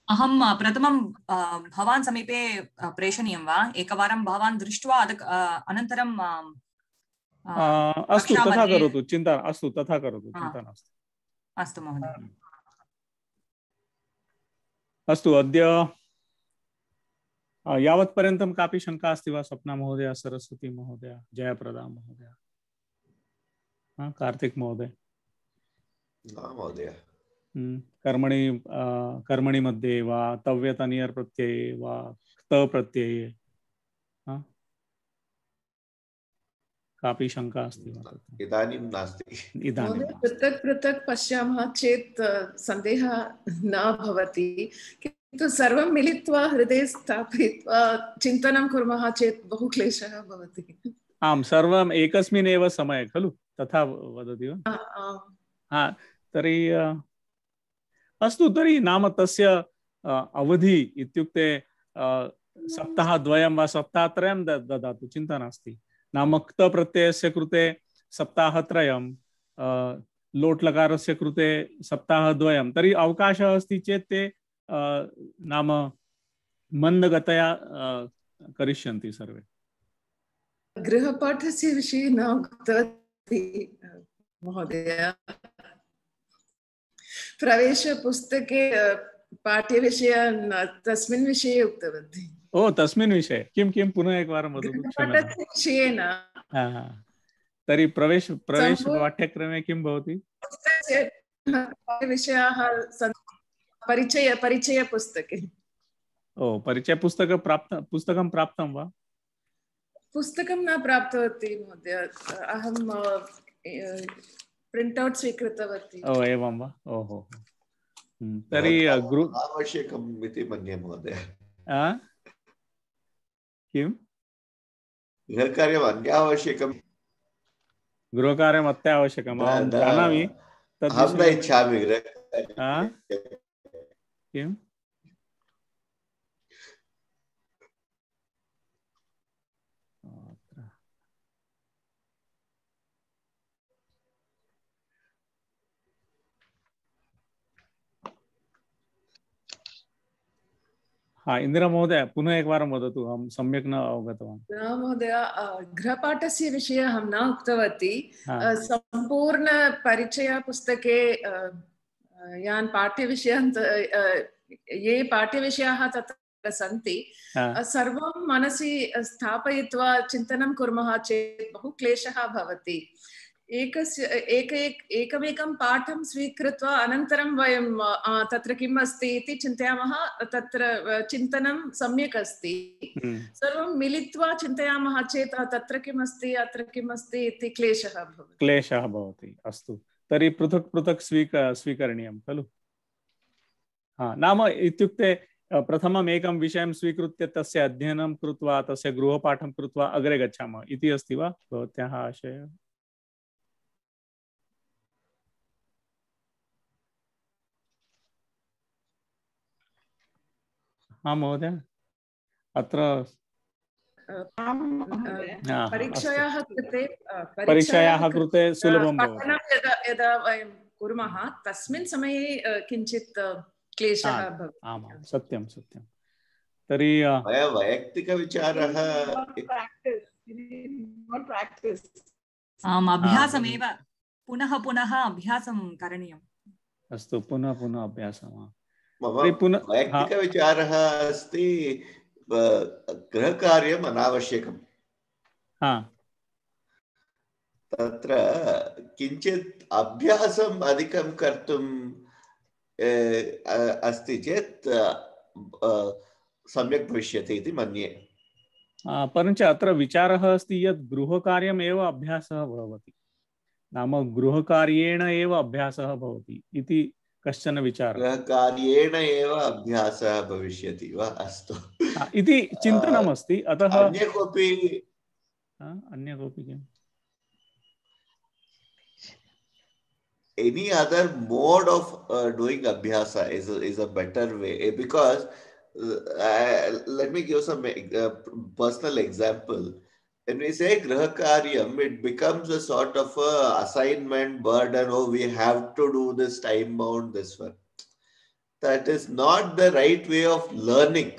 अहं प्रथमं भवान् समीपे प्रेषणीयं वा? एकवारं भवान् दृष्ट्वा अनन्तरं अस्तु तथा करोतु, चिन्ता अस्तु तथा करोतु, चिन्ता नास्ति। अस्तु महोदय। अस्तु, अद्य यावत्पर्यन्तं कापि शङ्का अस्ति वा? स्वप्ना महोदय, सरस्वती महोदय, जयप्रदा महोदय, कार्तिक महोदय? महोदय कर्मणि मध्ये वा तव्यतनियर् प्रत्यये वा क्त प्रत्यये कापि शङ्का अस्ति वा? इदानीं नास्ति। इदानीं पृथक् पृथक् पश्यामः चेत् सन्देहः न भवति, किन्तु सर्वं मिलित्वा हृदये स्थापयित्वा चिन्तनं कुर्मः चेत् बहु क्लेशः भवति। आम्, सर्वम् एकस्मिन् एव समये खलु, तथा वदति वा? तर्हि अस्तु, तर्हि नाम तस्य अवधि इत्युक्ते सप्ताहद्वयं वा सप्ताहत्रयं ददातु, चिन्ता नास्ति। नाम क्त प्रत्ययस्य कृते सप्ताहत्रयं, लोट्लकारस्य कृते सप्ताहद्वयं, तर्हि अवकाशः अस्ति चेत् ते नाम मन्दगतया करिष्यन्ति सर्वे। गृहपाठस्य विषये न उक्तवती महोदय। प्रवेशपुस्तके पाठ्यविषय तस्मिन् विषये उक्तवती। ओ, तस्मिन् विषये किं पुनः एकवारं वदतु। विषये न। तर्हि प्रवेश पाठ्यक्रमे किं भवति? विषयाः परिचय पुस्तके। ओ, परिचय पुस्तकं प्राप्तं वा? पुस्तकं न प्राप्तवती महोदय, अहं प्रिण्ट् स्वीकृतवती। ओ, एवं वा? ओहो, तर्हि आवश्यकम् इति मन्ये महोदय। किं? गृहकार्यम् अत्यावश्यकम्। गृहकार्यम् अत्यावश्यकम्, अहं जानामि। अहं न इच्छामि किम्? इंदिरा महोदय, पुनः एकवारं वदतु, अहं सम्यक् न अवगतवान्। न महोदय, गृहपाठस्य विषये अहं न उक्तवती। सम्पूर्ण परिचयपुस्तके यान् पाठ्यविषयान् ये पाठ्यविषयाः तत्र सन्ति, सर्वं मनसि स्थापयित्वा चिन्तनं कुर्मः चेत् बहु क्लेशः भवति। एकमेकं पाठं स्वीकृत्वा अनन्तरं वयं तत्र किम् अस्ति इति चिन्तयामः, तत्र चिन्तनं सम्यक् अस्ति। सर्वं मिलित्वा चिन्तयामः चेत् तत्र किम् अस्ति, अत्र किम् अस्ति इति क्लेशः भवति। अस्तु, तर्हि पृथक् पृथक् स्वीकरणीयं खलु? नाम इत्युक्ते प्रथमम् एकं विषयं स्वीकृत्य तस्य अध्ययनं कृत्वा तस्य गृहपाठं कृत्वा अग्रे गच्छामः इति अस्ति वा भवत्याः आशयः? हाँ महोदय, अत्र परीक्षायाः कृते सुलभं भवति। यदा वयं कुर्मः तस्मिन् समये किञ्चित् क्लेशः भवति। आमां, सत्यं सत्यं। तर्हि वैयक्तिकविचारः आम्, अभ्यासमेव, पुनः पुनः अभ्यासं करणीयम्। अस्तु, पुनः पुनः अभ्यासः। वैयक्तिकविचारः अस्ति, गृहकार्यम् अनावश्यकम्। तत्र किञ्चित् अभ्यासम् अधिकं कर्तुम् अस्ति चेत् सम्यक् भविष्यति इति मन्ये। परञ्च अत्र विचारः अस्ति यत् गृहकार्यम् एव अभ्यासः भवति, नाम गृहकार्येण एव अभ्यासः भवति इति कश्चन विचारः। गृहकार्येण एव अभ्यासः भविष्यति वा? अस्तु इति चिन्तनमस्ति। अतः अन्य कोऽपि किम्? Any other mode of doing abhyasa is a better way, because let me give some personal example. When we say grahakaryam, it becomes a sort of a assignment burden. Oh, we have to do this time bound this one. that is not the right way of learning.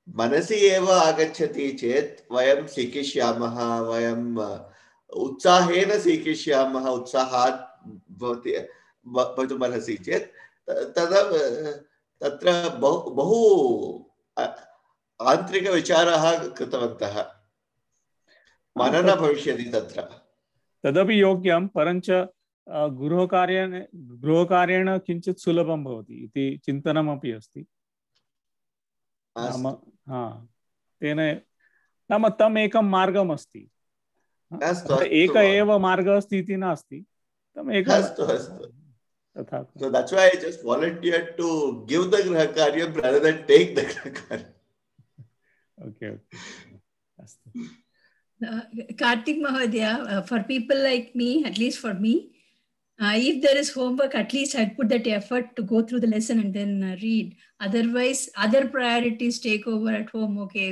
मनसि एव आगच्छति चेत् वयं सीखिष्यामः, वयं उत्साहेन सीखिष्यामः, उत्साहात् भवति भवितुमर्हसि चेत् तदा तत्र बहु आन्तरिकविचारः कृतवन्तः, मननं भविष्यति तत्र। तदपि योग्यं, परञ्च गृहकार्येण किञ्चित् सुलभं भवति इति चिन्तनमपि अस्ति। तेन नाम तम् एकं मार्गम् अस्ति, एक एव मार्गः अस्ति इति नास्ति, तम् एकं तथा। So that's why I just volunteered to give the grahakaryam rather than take the grahakaryam. Okay. Kartik Mahodaya, for people like me, at least for me, if there is homework, at least I'd put that effort to go through the lesson and then read. Otherwise, other priorities take over at home. Okay,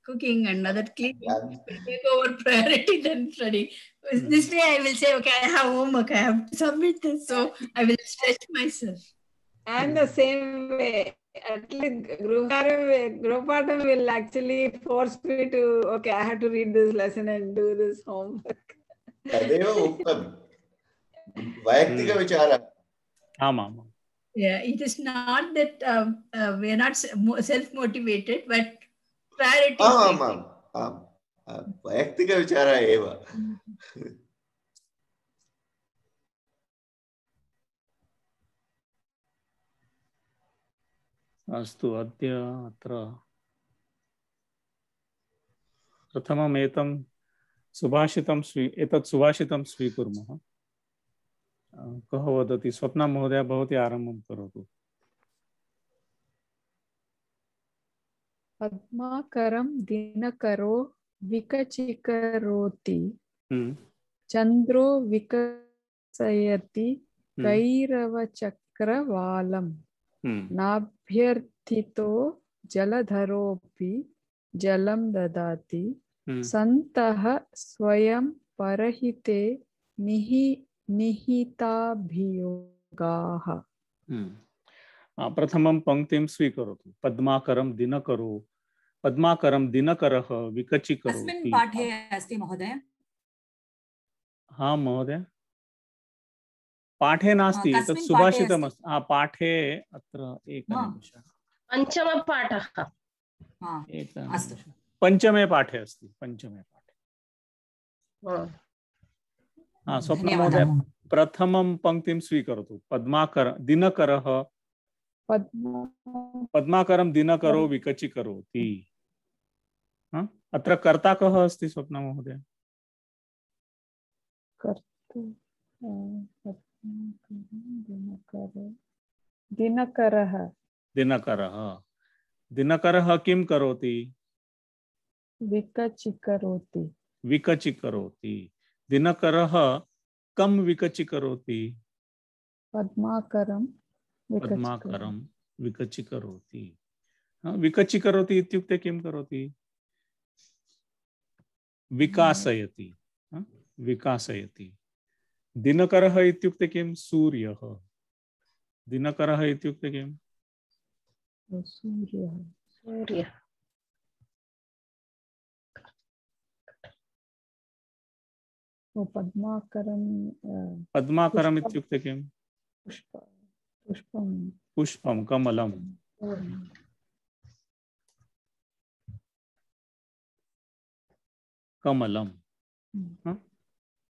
cooking and other cleaning take over priority than studying. This way, I will say, okay, I have homework, I have to submit this, so I will stretch myself. And the same way, at least Grupatham will actually force me to, okay, I have to read this lesson and do this homework. Yeah, it is not that we are not self-motivated, but priorities. वैयक्तिक विचारः एव। अस्तु, अद्य अत्र प्रथमम् एतत् सुभाषितं स्वीकुर्मः। कः वदति? स्वप्ना महोदया, भवती आरम्भं करोतु। पद्माकरं दिनकरो विकचिकरोति, चन्द्रो विकसयति कैरवचक्रवालम्, नाभ्यर्थितो जलधरोऽपि जलं ददाति, सन्तः स्वयं परहिते निहिताभियोगाः। प्रथमं पंक्तिं स्वीकरोतु। पद्माकरं दिनकरो, पद्माकरं दिनकरः विकचिकरोति। अस्मिन् पाठे अस्ति महोदय? हाँ महोदय, पाठे नास्ति, तत् सुभाषितम् अस्ति। पाठे अत्र एकनिमिषः, पञ्चमपाठः। पञ्चमे पाठे अस्ति, पञ्चमे पाठे। स्वप्ना महोदय, प्रथमं पंक्तिं स्वीकरोतु। दिनकरः, पद्माकरं दिनकरो विकचिकरोति। अत्र कर्ता कः अस्ति स्वप्ना महोदय? दिनकरः। दिनकरः किं करोति? विकचिकरोति। दिनकरः कं विकचिकरोति? पद्माकरं विकचिकरोति। विकचिकरोति इत्युक्ते किं करोति? विकासयति। दिनकरः इत्युक्ते किं? सूर्यः। दिनकरः इत्युक्ते किं? सूर्यः। पद्माकरम् इत्युक्ते किं? पुष्पं, कमलं।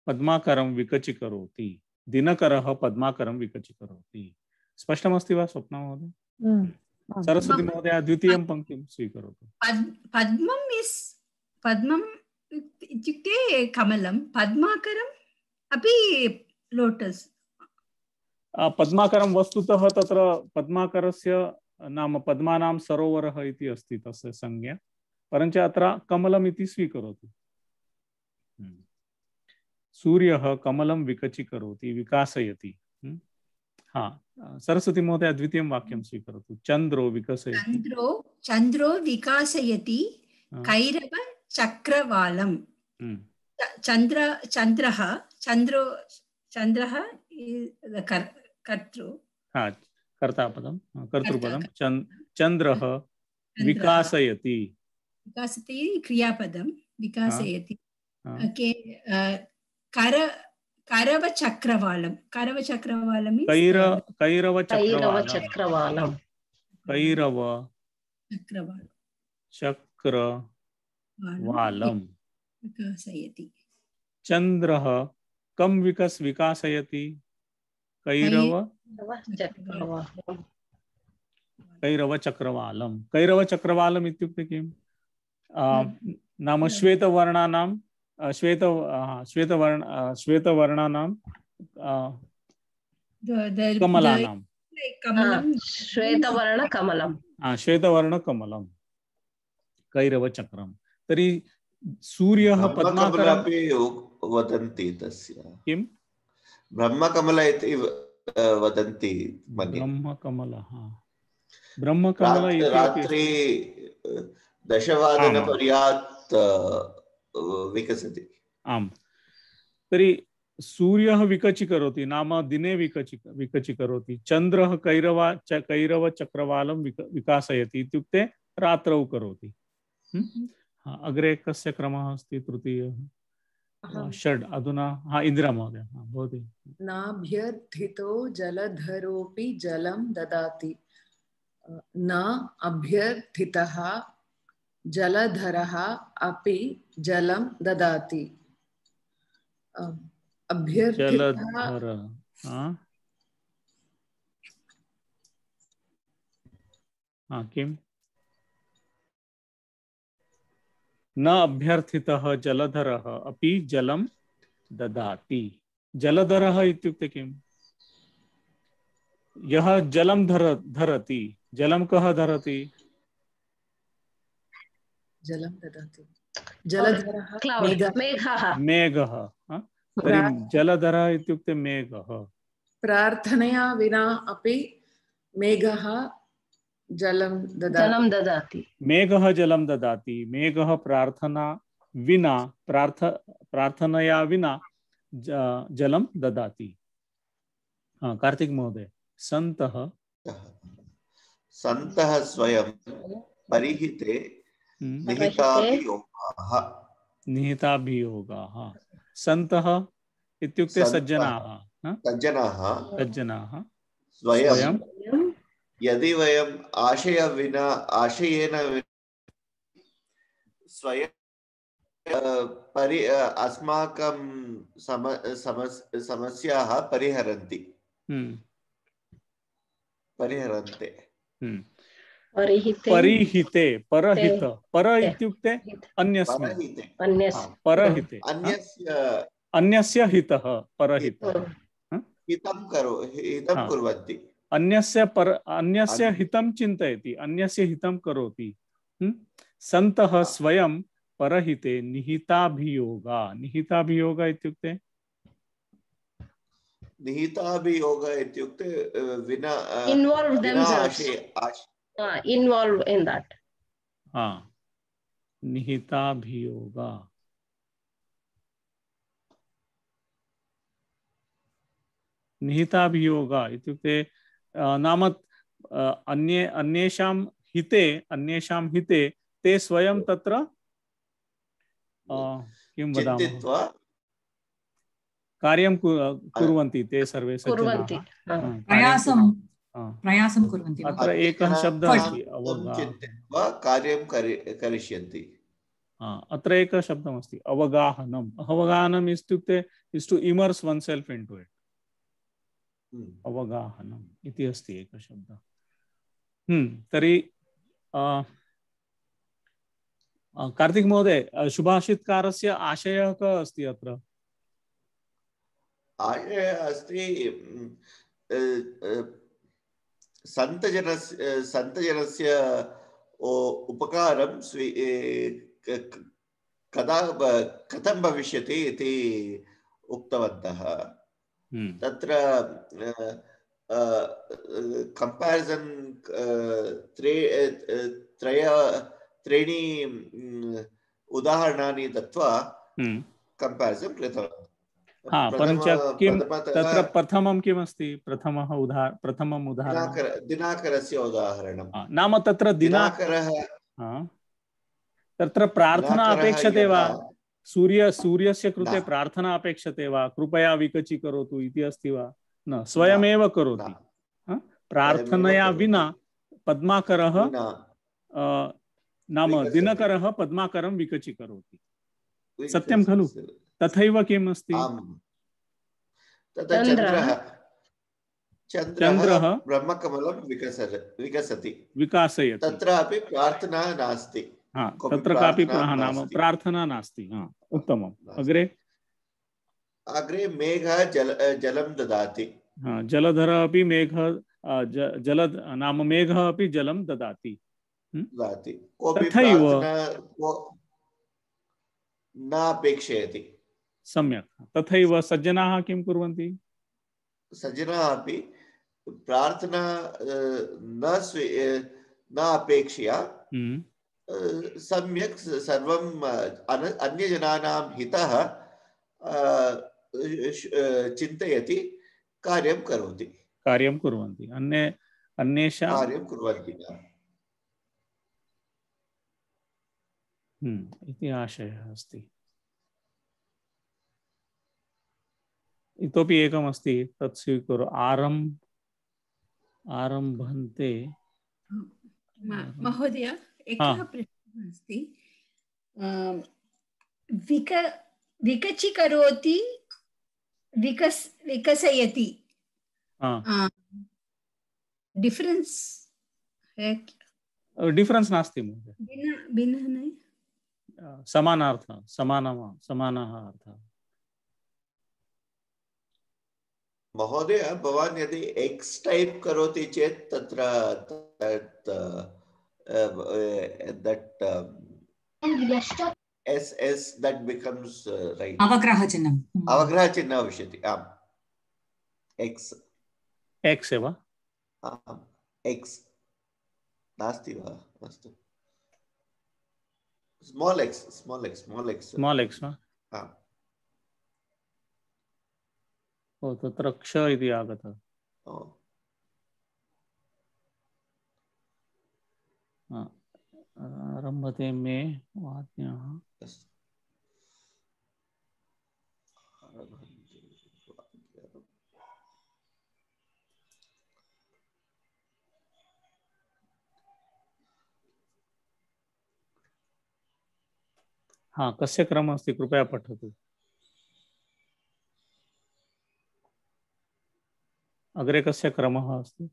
पद्माकरं विकचिकरोति, दिनकरः पद्माकरं विकचिकरोति। स्पष्टमस्ति वा स्वप्ना महोदय? सरस्वती महोदय, द्वितीयं पंक्तिं स्वीकरोतु। पद्मम् इत्युक्ते कमलं, पद्माकरम् अपि लोटस्। पद्माकरं वस्तुतः तत्र पद्माकरस्य नाम पद्मानां सरोवरः इति अस्ति तस्य संज्ञा, परञ्च अत्र कमलम् इति स्वीकरोतु। सूर्यः कमलं विकचिकरोति, विकासयति। सरस्वती महोदय, द्वितीयं वाक्यं स्वीकरोतु। चन्द्रो विकासयति कैरव चक्रवालम्। चन्द्रः कर्तृ। कर्तापदं कर्तृपदं चन्द्रः विकासयति विकासति क्रियापदं विकासयति करवचक्रवालं करवचक्रवालं कैरवचक्रवालं विकासयति चन्द्रः कं विकासयति कैरवचक्रवालम् इत्युक्ते किं नाम श्वेतवर्णानां श्वेतवर्णानां कमलानां श्वेतवर्णकमलं कैरवचक्रं तर्हि सूर्यः पद्माकरं वदन्ति तस्य किं ब्रह्मकमल इति वदन्ति मन्ये ब्रह्मकमल रात्रि 10 पर्याप्त विकसति आम् तर्हि सूर्यः विकचीकरोति नाम दिने विकचीकरोति चन्द्रः कैरवचक्रवालं विकासयति इत्युक्ते रात्रौ करोति अग्रे कस्य क्रमः अस्ति तृतीयः षड् अधुना इन्दिरा महोदय भवति नाभ्यर्थितो जलधरोऽपि जलं ददाति न अभ्यर्थितः जलधरः अपि जलं ददाति किम् न अभ्यर्थितः जलधरः अपि जलं ददाति जलधरः इत्युक्ते किम् यः जलं धरति जलं कः धरति जलं ददाति जलधरः मेघः तर्हि जलधरः इत्युक्ते मेघः प्रार्थनया विना अपि मेघः जलं ददाति मेघः जलं ददाति मेघः प्रार्थनया विना जलं ददाति कार्तिक महोदय सन्तः स्वयं परिहिते निहिताभियोगाः सन्तः इत्युक्ते सज्जनाः स्वयं यदि वयं आशयेन स्वयं अस्माकं समस्याः परिहरन्ते परिहिते परहित पर इत्युक्ते अन्यस्मिन् परहिते अन्यस्य हितः परहित हितं कुर्वन्ति अन्यस्य हितं चिन्तयति अन्यस्य हितं करोति सन्तः स्वयं परहिते निहिताभियोगा इत्युक्ते विना involve in that निहिताभियोगा इत्युक्ते नाम अन्येषां हिते ते स्वयं तत्र किं वदामः कार्यं कुर्वन्ति ते सर्वे प्रयासं कुर्वन्ति अत्र एकः शब्दः अस्ति कार्यं करिष्यन्ति अत्र एकः शब्दमस्ति अवगाहनम् इत्युक्ते is to immerse oneself into it अवगाहनम् इति अस्ति एकः शब्दः तर्हि कार्तिक महोदय शुभाषितकारस्य आशयः कः अस्ति अत्र आशयः अस्ति सन्तजनस्य उपकारं कथं भविष्यति इति उक्तवन्तः तत्र कंपैरिजन त्रीणि उदाहरणानि दत्वा कंपैरिजन कृतवान् परञ्च किं तत्र प्रथमं किमस्ति? प्रथमम् उदाहरणं दिनाकरस्य उदाहरणं नाम तत्र दिनाकरः तत्र प्रार्थना अपेक्षते वा? सूर्यस्य कृते न। प्रार्थना अपेक्षते वा? कृपया विकचीकरोतु इति अस्ति वा? न, स्वयमेव करोति। प्रार्थनया विना पद्माकरः नाम दिनकरः पद्माकरं विकचीकरोति। सत्यं खलु? तथैव किम् अस्ति? चन्द्रः ब्रह्मकमलं विकसति। तत्रापि प्रार्थना नास्ति। तत्र कापि नाम प्रार्थना नास्ति। उत्तमम्। अग्रे मेघः जलं ददाति। जलधर अपि नाम मेघः अपि जलं ददाति। तथैव न अपेक्षयति। सम्यक्। तथैव सज्जनाः किं कुर्वन्ति? सज्जनाः अपि प्रार्थना न अपेक्षया सम्यक् सर्वं अन्यजनानां हितः चिन्तयति, कार्यं कुर्वन्ति। अन्येषां कार्यं कुर्वन्ति इति आशयः अस्ति। इतोपि एकमस्ति, तत् स्वीकुरु। आरम्भन्ते। महोदय, एकः प्रश्नः अस्ति। विकचीकरोति, विकसयति, डिफरेंस नास्ति महोदय। भिन्नः न, समानार्थः, समानः अर्थः। महोदय, भवान् यदि एक्स टाइप करोति चेत् तत्र SS that becomes right. अवग्रहचिह्नम् भविष्यति। आम्, X एव। X नास्ति वा? अस्तु, स्मॉल x वा? तत्र क्ष इति आगतः। आरम्भते मे वाज्ञाः। कस्य क्रमः अस्ति? कृपया पठतु। अग्रे कस्य क्रमः अस्ति?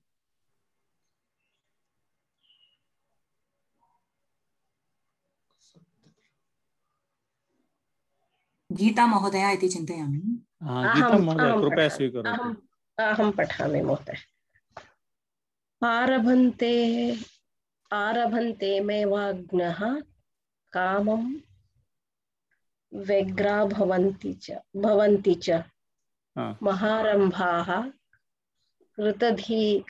गीता महोदया इति चिन्तयामि। गीता महोदय, कृपया स्वीकरोतु। अहं पठामि महोदय। आरभन्ते मे वाग्नः कामं व्यग्रा भवन्ति च महारम्भाः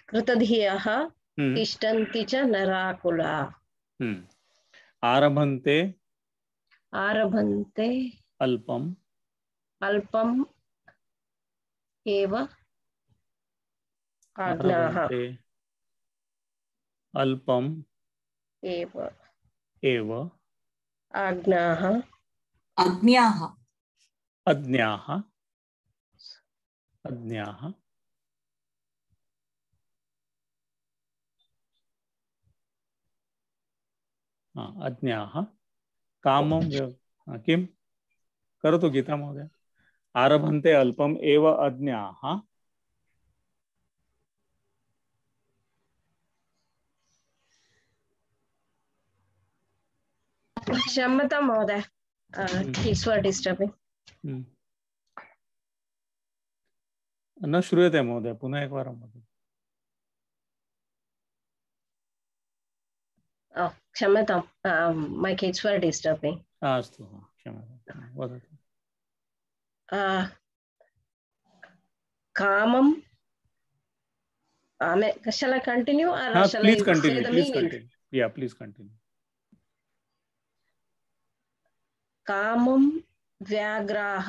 कृतधियः तिष्ठन्ति च नराकुला। आरभन्ते अल्पम् एव आज्ञाः। अल्पम् एव आज्ञाः। अज्ञाः कामं किं करोतु गीता महोदय। आरभन्ते अल्पम् एव अज्ञाः क्षम्यतां महोदय, किड्स् वर डिस्टर्बिंग। न श्रूयते महोदय, पुनः एकवारं वदतु। क्षम्यतां, मै किड्स् वर डिस्टर्बिंग। अस्तु, क्षम्यतां, वदतु। कामं, shall I continue or shall please I continue, say the please meaning? continue. Yeah, please continue. कामं व्याघ्राः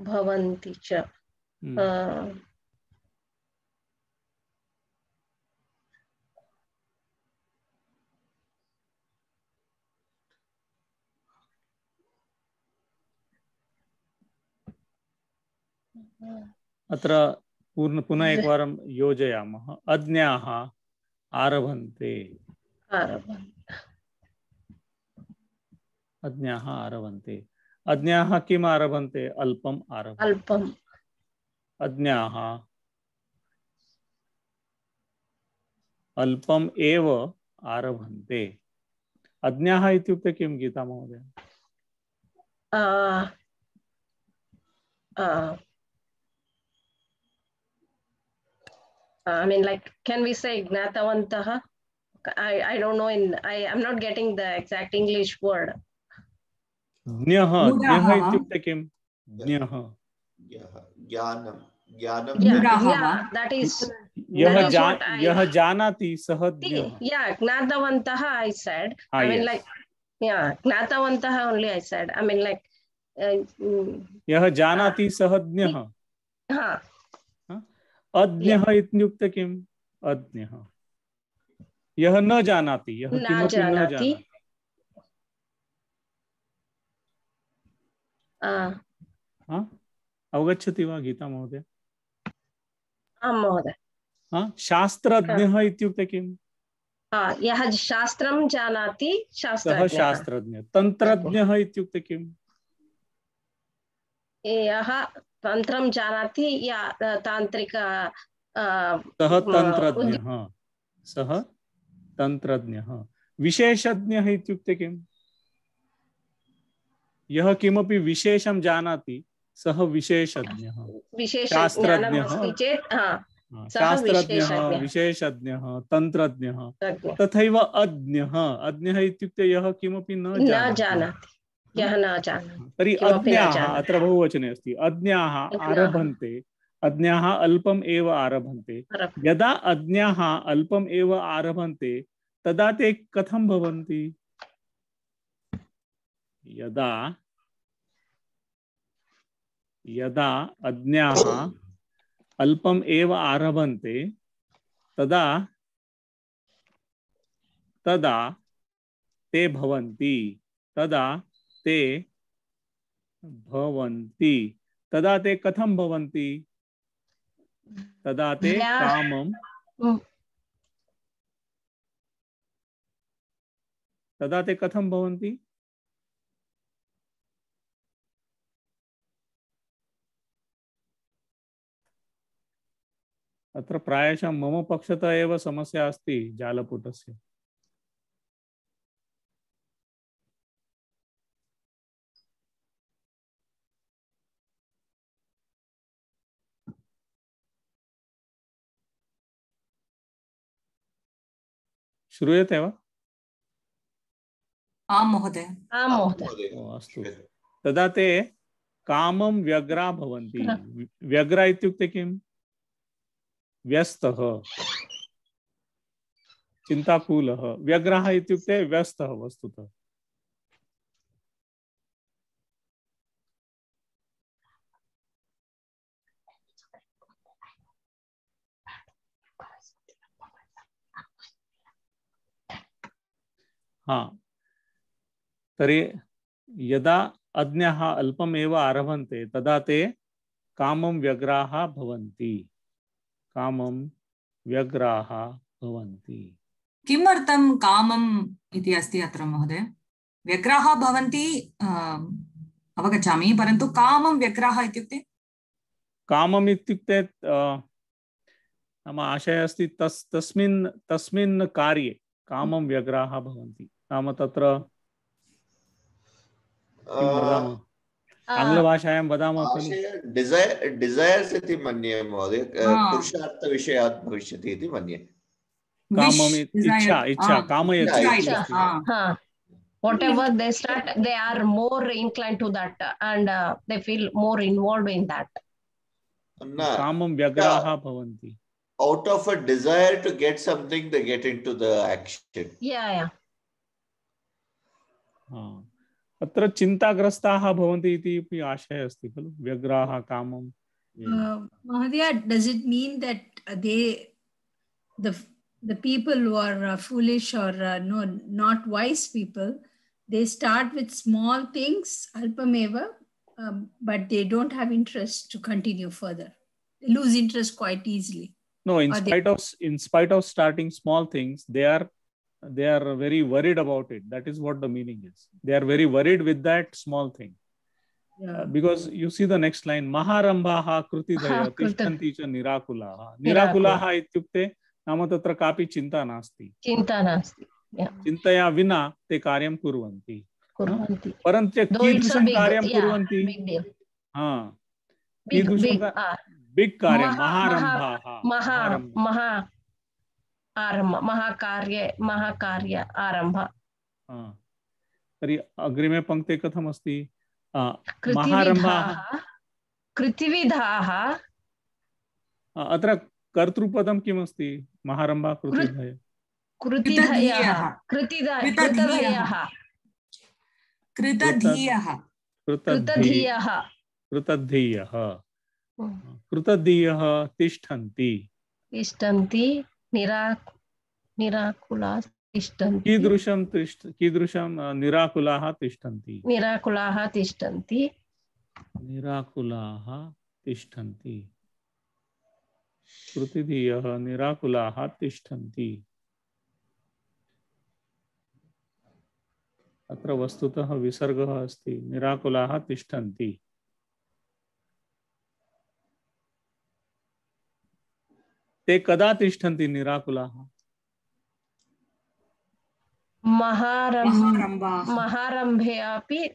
bhavanti cha. अत्र पुनः एकवारं योजयामः। अज्ञाः आरभन्ते, अज्ञाः आरभन्ते, अज्ञाः किम् आरभन्ते? अल्पम् आरभन्ते। अल्पम्। अज्ञाः अल्पम् एव आरभन्ते। अज्ञाः इत्युक्ते किं गीता महोदय? I mean, like, can we say gnatavantah? I don't know. I'm not getting the exact English word. ज्ञः, ज्ञः इत्युक्ते किं? ज्ञः ज्ञानं, ज्ञानं। Yeah, that is. यः जानाति सः ज्ञः। Yeah, gnatavantah I said. I mean, like, yeah, gnatavantah only I said. I mean, like, यः जानाति सः ज्ञः। हाँ। अज्ञः इत्युक्ते किम्? अज्ञः यः न जानाति, यः किमपि न जानाति। अवगच्छति वा गीता महोदय? आं महोदय। शास्त्रज्ञः इत्युक्ते किम्? यः शास्त्रं जानाति सः शास्त्रज्ञः। तन्त्रज्ञः इत्युक्ते किम्? यः तंत्रं जानाति या तांत्रिक सः तन्त्रज्ञः, सः तन्त्रज्ञः। विशेषज्ञः इत्युक्ते किम्? यः किमपि विशेषं जानाति सः विशेषज्ञः। शास्त्रज्ञः, शास्त्रज्ञः, विशेषज्ञः, तन्त्रज्ञः। तथैव अज्ञः, अज्ञः इत्युक्ते यः किमपि न जानाति। तर्हि अज्ञाः अत्र बहुवचने अस्ति। अज्ञाः आरभन्ते, अज्ञाः अल्पम् एव आरभन्ते। यदा अज्ञाः अल्पम् एव आरभन्ते तदा ते कथं भवन्ति? यदा अज्ञाः अल्पम् एव आरभन्ते तदा ते भवन्ति, तदा ते कथं भवन्ति? तदा ते कामं, तदा ते कथं भवन्ति? अत्र प्रायशः मम पक्षतः एव समस्या अस्ति जालपुटस्य। श्रूयते वा? आं महोदय। अस्तु, तदा ते कामं व्यग्रा भवन्ति। व्यग्रा इत्युक्ते किम्? व्यस्तः, चिन्ताकुलः। व्यग्रः इत्युक्ते व्यस्तः वस्तुतः। तर्हि यदा अज्ञाः अल्पमेव आरभन्ते तदा ते कामं व्यग्राः भवन्ति, कामं व्यग्राः भवन्ति। किमर्थं कामम् इति अस्ति अत्र महोदय? व्यग्राः भवन्ति अवगच्छामि, परन्तु कामं व्यग्राः इत्युक्ते? कामम् इत्युक्ते नाम आशयः अस्ति तस्मिन् कार्ये कामं व्यग्राः भवन्ति। नाम तत्र किं वदामः, आङ्ग्लभाषायां वदामः खलु, डिज़ैर्स् इति मन्ये महोदय, पुरुषार्थविषयात् भविष्यति इति मन्ये। कामम् इच्छा, कामयति। Whatever they start, they are more inclined to that and they feel more involved in that. कामं व्यग्राः भवन्ति. Out of a desire to get something, they get into the action. Yeah. अत्र चिन्ताग्रस्ताः भवन्ति इति अपि आशयः अस्ति खलु, व्यग्राः कामं। Mahadaya, does it mean that the people who are foolish or no, not wise people, they start with small things, alpameva, but they don't have interest to continue further. They lose interest quite easily. No, in spite of starting small things, they are very worried about it. That is what the meaning is. They are very worried with that small thing. Yeah. Because you see the next line, Maharambhaha krutidaya tishtanti cha nirakulaha. Nirakulaha ityukte नाम तत्र कापि चिंता नास्ति, चिन्तया विना ते कार्यं कुर्वन्ति, परन्तु कीदृशं कार्यं कुर्वन्ति, बिग कार्यं, महाकार्य आरम्भ। तर्हि अग्रिमे पङ्क्ते कथमस्ति, कृतिविधाः, अत्र कर्तृपदं किमस्ति, महारम्भा कृतिधयः, कृतधीयः तिष्ठन्ति, निराकुलाः तिष्ठन्ति, कीदृशं निराकुलाः तिष्ठन्ति, कृतिधीयः निराकुलाः तिष्ठन्ति। अत्र वस्तुतः विसर्गः अस्ति, निराकुलाः तिष्ठन्ति। ते कदा तिष्ठन्ति निराकुलाः? महारम्भे अपि,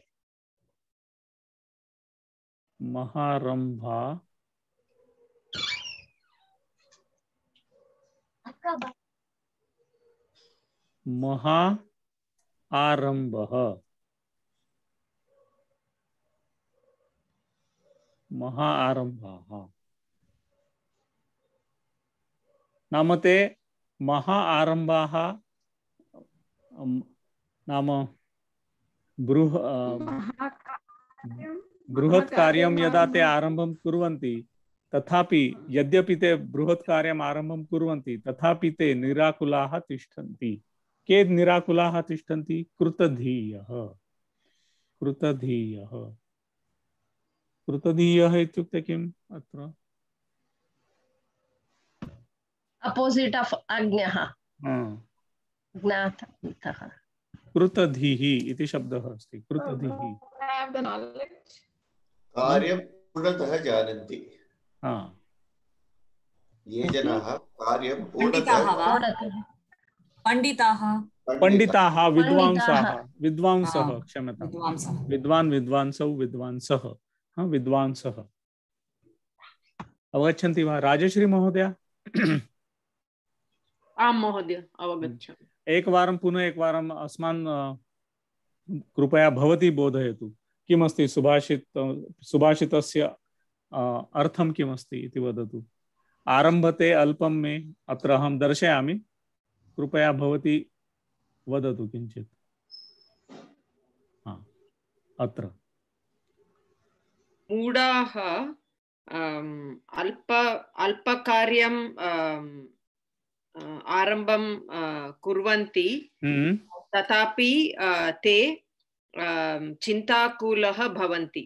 महारम्भा महा आरम्भः, महा आरम्भाः नाम ते महा आरम्भाः नाम बृहत् कार्यं यदा ते आरम्भं कुर्वन्ति, तथापि यद्यपि ते बृहत् कार्यम् आरम्भं कुर्वन्ति, तथापि ते निराकुलाः तिष्ठन्ति। के निराकुलाः तिष्ठन्ति? कृतधीयः, कृतधीयः, कृतधीयः इत्युक्ते किम्? अत्र अपोजिट् आफ् अज्ञः, ज्ञातः, कृतधीः इति शब्दः अस्ति। कृतधीः कार्यं पूर्णतः जानन्ति, ये जनाः कार्यं पूर्णतः, पंडिताः, विद्वांसः, क्षम्यतां, विद्वांसौ, विद्वांसः, विद्वांसः। अवगच्छन्ति वा राजश्री महोदय? आं महोदय, अवगच्छामि। एकवारं पुनः एकवारम् अस्मान् कृपया भवती बोधयतु, किमस्ति सुभाषितस्य अर्थं किमस्ति इति वदतु। आरम्भते अल्पं मे, अत्र अहं दर्शयामि, कृपया भवती वदतु किञ्चित्। अत्र मूढाः अल्पकार्यं आरम्भं कुर्वन्ति, तथापि ते चिन्ताकुलः भवन्ति।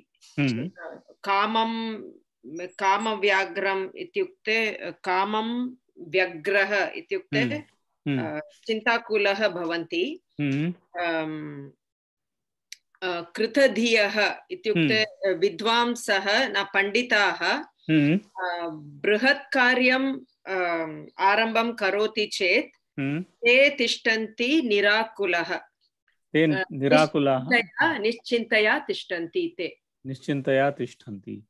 कामव्याघ्रम् इत्युक्ते, कामं व्यग्रः इत्युक्ते चिन्ताकुलः भवन्ति। कृतधियः इत्युक्ते विद्वांसः न पंडिताः, बृहत् कार्यं आरम्भं करोति चेत् ते तिष्ठन्ति निराकुलः, ते निराकुलाः निश्चिन्तया तिष्ठन्ति, ते निश्चिन्तया तिष्ठन्ति।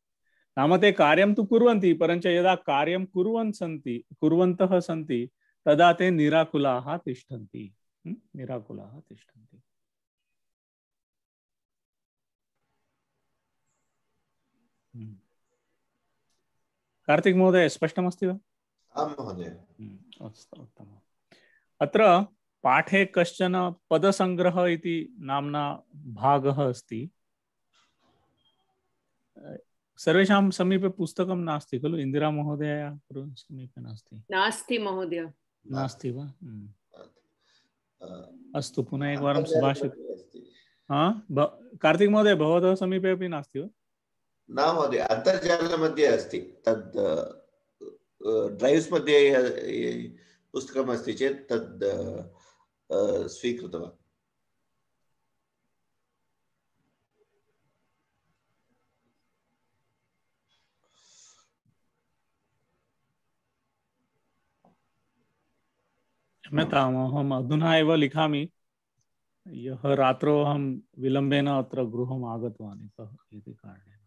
नाम ते कार्यं तु कुर्वन्ति, परञ्च यदा कार्यं कुर्वन्तः सन्ति तदा ते निराकुलाः तिष्ठन्ति, निराकुलाः तिष्ठन्ति। कार्तिक महोदय स्पष्टमस्ति वा? आं महोदय। अस्तु, उत्तमम्। अत्र पाठे कश्चन पदसंग्रह इति नाम्ना भागः अस्ति। सर्वेषां समीपे पुस्तकं नास्ति खलु? इन्दिरा महोदयायाः समीपे नास्ति? नास्ति महोदय। नास्ति वा? अस्तु, पुनः एकवारं सुभाषित। कार्तिक महोदय, भवतः समीपे अपि नास्ति वा? न महोदय, अन्तर्जालमध्ये अस्ति। तद् ड्रैव्स् मध्ये पुस्तकम् अस्ति चेत् तद् स्वीकृतवान्। क्षम्यताम्, अहम् अधुना एव लिखामि। ह्यः रात्रौ अहं विलम्बेन अत्र गृहम् आगतवान् इति कारणेन।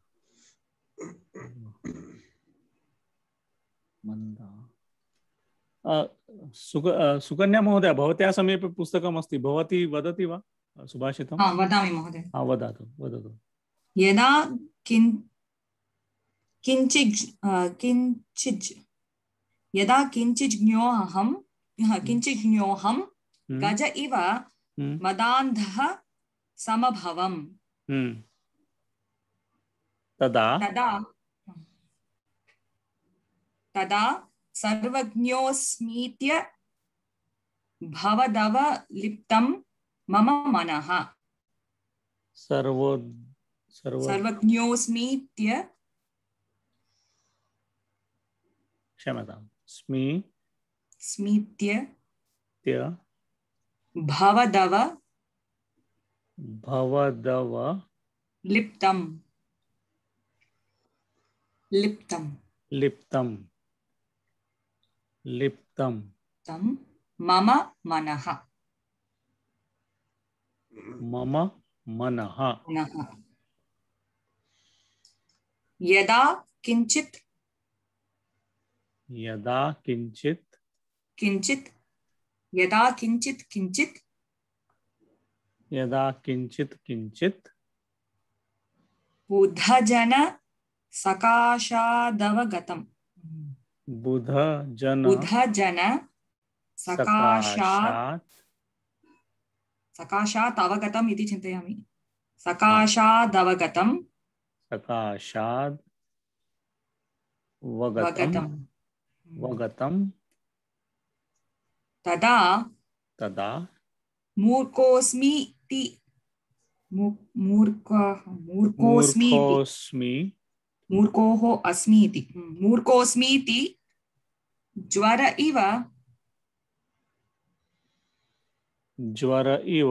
सुकन्या महोदय, भवत्याः समीपे पुस्तकम् अस्ति, भवती वदति वा सुभाषितं? वदामि महोदय। वदतु वदतु। यदा किञ्चित् ज्ञोऽहं गज इव मदान्धः समभवम्। तदा सर्वज्ञोऽस्मीत्य भवदवलिप्तं मम मनः। सर्वज्ञोऽस्मीत्य, क्षम्यताम्, स्मीत्य भवदव लिप्तं तं मम मनः। यदा किञ्चित् बुधजन सकाशादवगतम्। सकाशात् अवगतम् इति चिन्तयामि। सकाशादवगतम् तदा मूर्खोऽस्मीति ज्वर इव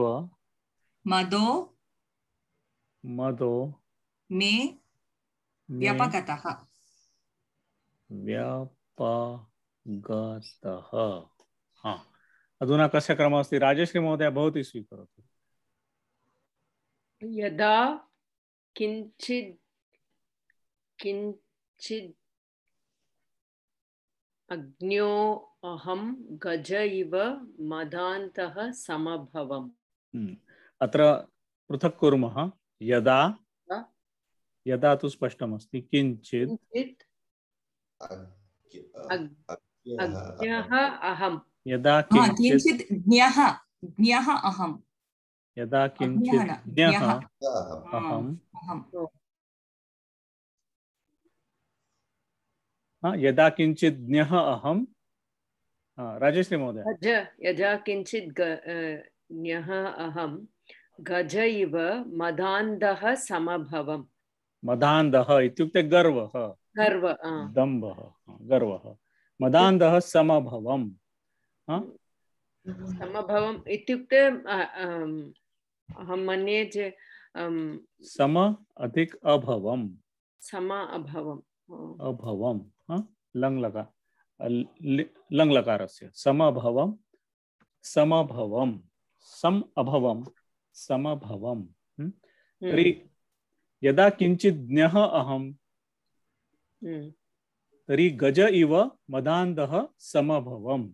मदो मे व्यपगतः। अधुना कस्य क्रमः अस्ति? राजश्री महोदय, भवती स्वीकरोतु। यदा किञ्चित् अज्ञो अहं गज इव मदान्तः समभवम्। अत्र पृथक् कुर्मः। यदा तु स्पष्टमस्ति। किञ्चित् अज्ञः अहम्। यदा किञ्चित् ज्ञः अहम्। यदा किञ्चित् ज्ञः अहम्। यदा किञ्चित् ज्ञः अहम्। राजश्री महोदय। यदा किञ्चित् ज्ञः अहं गज इव मदान्धः समभवम्। मदान्धः इत्युक्ते गर्वः, दम्भः, गर्वः। मदान्धः समभवम्। समभवम् इत्युक्ते अहं मन्ये सम अधिक अभवम्। अभवम् लङ्लकारस्य समभवम् समभवम्। तर्हि यदा किञ्चित् ज्ञः अहम् तर्हि गज इव मदान्धः समभवम्।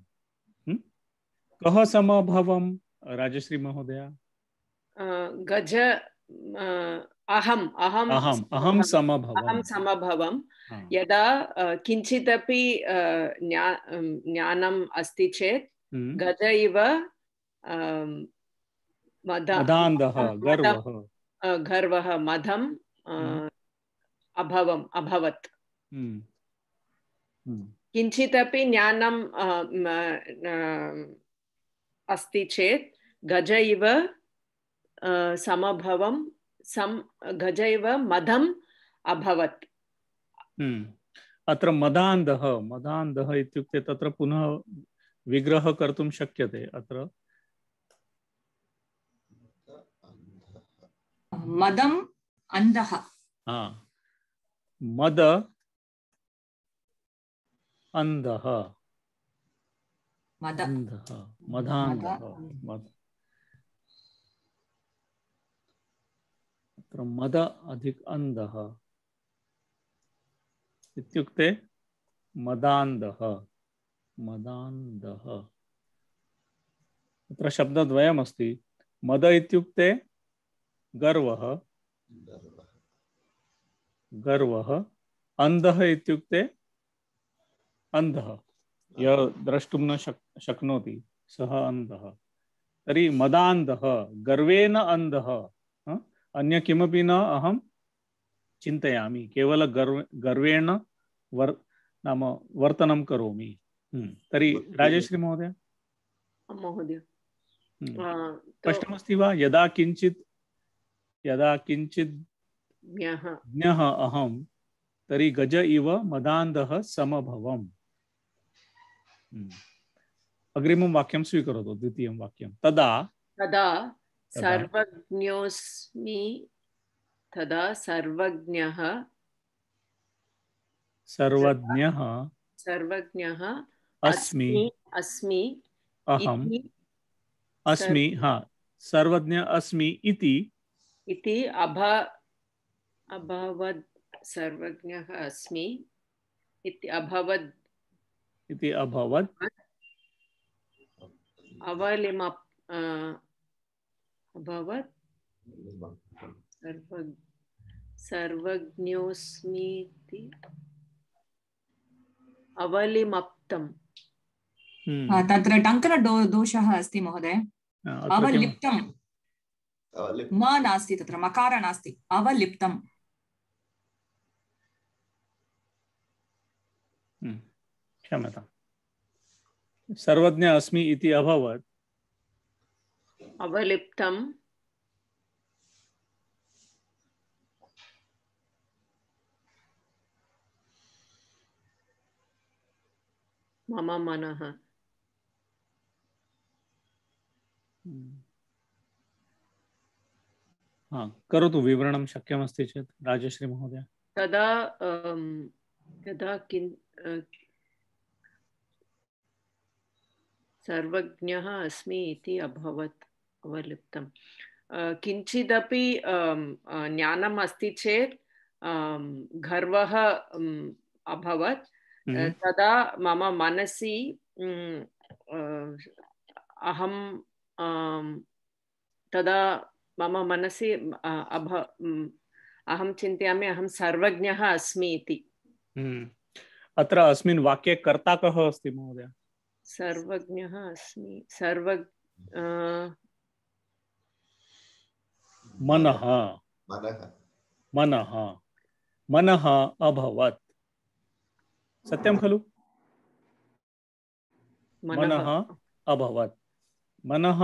कः समभवम् राजश्री महोदय? गज अहं समभवम्। यदा किञ्चिदपि ज्ञानम् अस्ति चेत् गज इव मदान्धः गर्वः गर्वः मदम् अभवत् किञ्चिदपि ज्ञानम् अस्ति चेत् गज इव समभवं गज इव मदम् अभवत्। अत्र मदान्धः इत्युक्ते तत्र पुनः विग्रह कर्तुं शक्यते। अत्र मदम् अन्धः मद अन्धः मदान्धः अत्र मद अधिक अन्धः इत्युक्ते मदान्धः अत्र शब्दद्वयमस्ति। मद इत्युक्ते गर्वः अन्धः इत्युक्ते अन्धः यः द्रष्टुं न शक्नोति सः अन्धः। तर्हि मदान्धः गर्वेण अन्धः अन्य किमपि न अहं चिन्तयामि केवल गर्वेण नाम वर्तनं करोमि। तर्हि राजश्री महोदय स्पष्टमस्ति वा? यदा किञ्चित् ज्ञः अहं तर्हि गज इव मदान्धः समभवम्। अग्रिमं वाक्यं स्वीकरोतु। द्वितीयं वाक्यं तदा सर्वज्ञोऽस्मि तदा सर्वज्ञः अस्मि अहम् अस्मि सर्वज्ञ अस्मि इति अभवत् सर्वज्ञः अस्मि इति अभवत् अभवत् सर्वज्ञोऽस्मीति अवलिमप्तम्। तत्र टङ्कन दोषः अस्ति महोदय। अवलिप्तम् म नास्ति, तत्र मकार नास्ति, अवलिप्तम्। क्षम्यताम्। सर्वज्ञ अस्मि इति अभवत् अवलिप्तम् मम मनः। करोतु विवरणं शक्यमस्ति चेत् राजश्री महोदय। तदा सर्वज्ञः अस्मि इति अभवत् अवलिप्तम्। किञ्चिदपि ज्ञानम् अस्ति चेत् गर्वः अभवत्। तदा मम मनसि अहं तदा मम मनसि अहं चिन्तयामि अहं सर्वज्ञः अस्मि इति। अत्र अस्मिन् वाक्ये कर्ता कः अस्ति महोदय? सर्वज्ञः अस्मि मनः अभवत्। सत्यं खलु? मनः अभवत्। मनः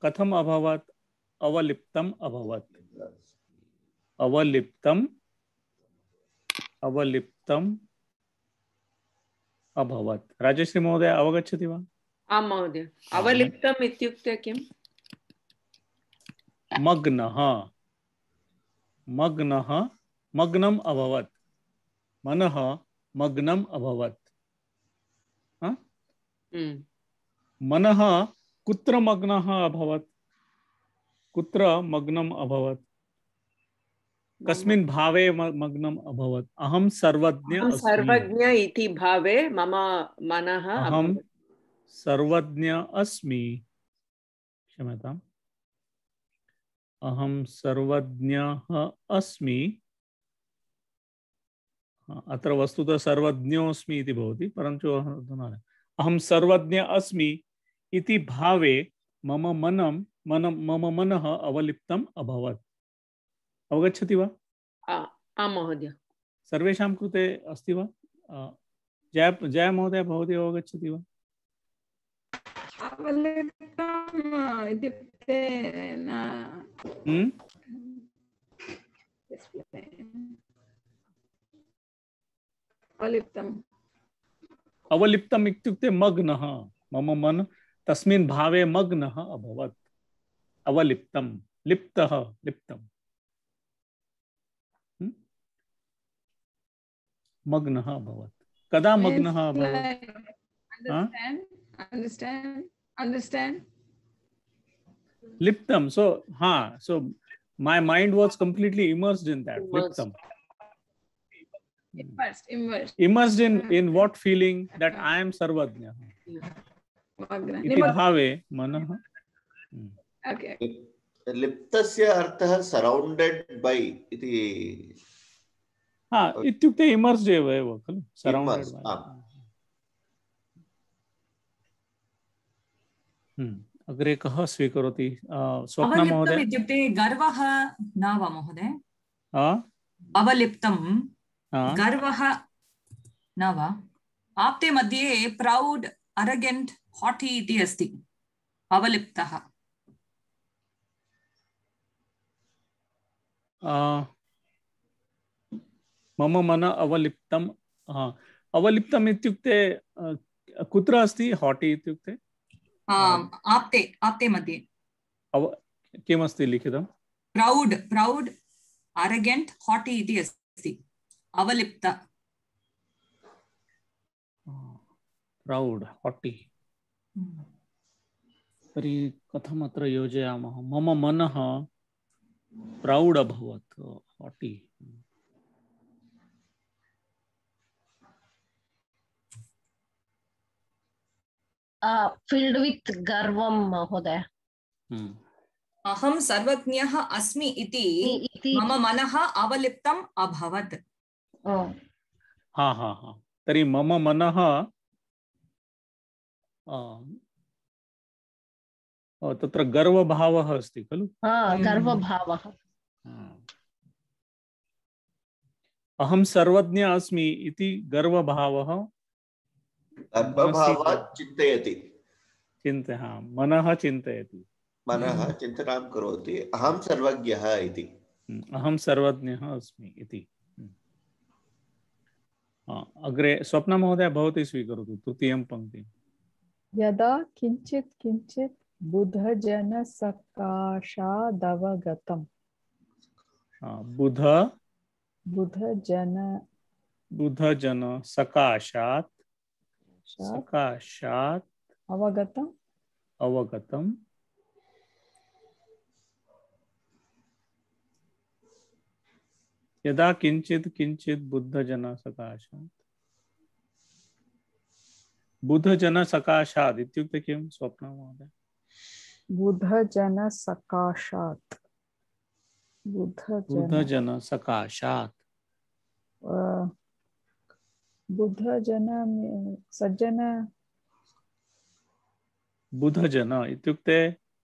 कथम अभवत्? अवलिप्तम् अभवत्। अवलिप्तम् अभवत्। राजश्री महोदय अवगच्छति वा? आं महोदय। अवलिप्तम् इत्युक्ते किम्? मग्नम् अभवत्। मनः मग्नम् अभवत्। मनः कुत्र मग्नः अभवत्? कुत्र मग्नम् अभवत्? कस्मिन् भावे मग्नम् अभवत्? अहं सर्वज्ञ इति भावे मम मनः अहं सर्वज्ञ अस्मि। क्षम्यताम्। अहं सर्वज्ञः अस्मि। अत्र वस्तुतः सर्वज्ञोऽस्मि इति भवति, परन्तु अहं सर्वज्ञ अस्मि इति भावे मम मनः अवलिप्तम् अभवत्। अवगच्छति वा? आम् महोदय। सर्वेषां कृते अस्ति वा? जय महोदय, भवती अवगच्छति वा? अवलिप्तम् इत्युक्ते अवलिप्तम् इत्युक्ते मग्नः, मम मन तस्मिन् भावे मग्नः अभवत्। अवलिप्तम्, लिप्तः, लिप्तम्, मग्नः अभवत्। कदा मग्नः अभवत्? Understand? Liptam. So my mind was completely immersed in that. Liptam. Immersed in what feeling? That I am Sarvajna. Iti bhave manah. Okay. Liptasya arthah surrounded by iti. इत्युक्ते immersed एव खलु, surrounded by. अग्रे कः स्वीकरोति? स्वप्ना महोदय। इत्युक्ते गर्वः न वा महोदय? अवलिप्तं गर्वः न वा? आप्ते मध्ये प्रौड्, अरगेंट, हॉटी इति अस्ति। अवलिप्तः मम मन अवलिप्तम्। अवलिप्तम् इत्युक्ते कुत्र अस्ति? हॉटी इत्युक्ते आप्ते मध्ये किमस्ति लिखितं? प्रौड्, अरगेंट, हॉटी इति अस्ति। अवलिप्त प्रौड्, हॉटी। तर्हि कथम् अत्र योजयामः? मम मनः प्रौड् अभवत्, हॉटी। filled with garvam महोदय। अहं सर्वज्ञः अस्मि इति मम मनः अवलिप्तम् अभवत्। तर्हि मम मनः तत्र गर्वभावः अस्ति खलु? गर्वभावः। अहं सर्वज्ञ अस्मि इति गर्वभावः चिन्तयति। मनः चिन्तयति, मनः चिन्तनां करोति, अहं सर्वज्ञः इति। अहं सर्वज्ञः अस्मि इति। अग्रे स्वप्ना महोदय भवती स्वीकरोतु तृतीयं पङ्क्तिम्। यदा किञ्चित् किञ्चित् बुधजनसकाशादवगतम्। बुधजन सकाशात् अवगतम्। यदा किंचित किंचित बुद्धजन सकाशात्। बुद्धजन सकाशात् इत्युक्ते किं स्वप्ना महोदय? बुधजन सकाशात्। बुद्धजन सकाशात्। बुद्धजन सज्जन। बुद्धजन इत्युक्ते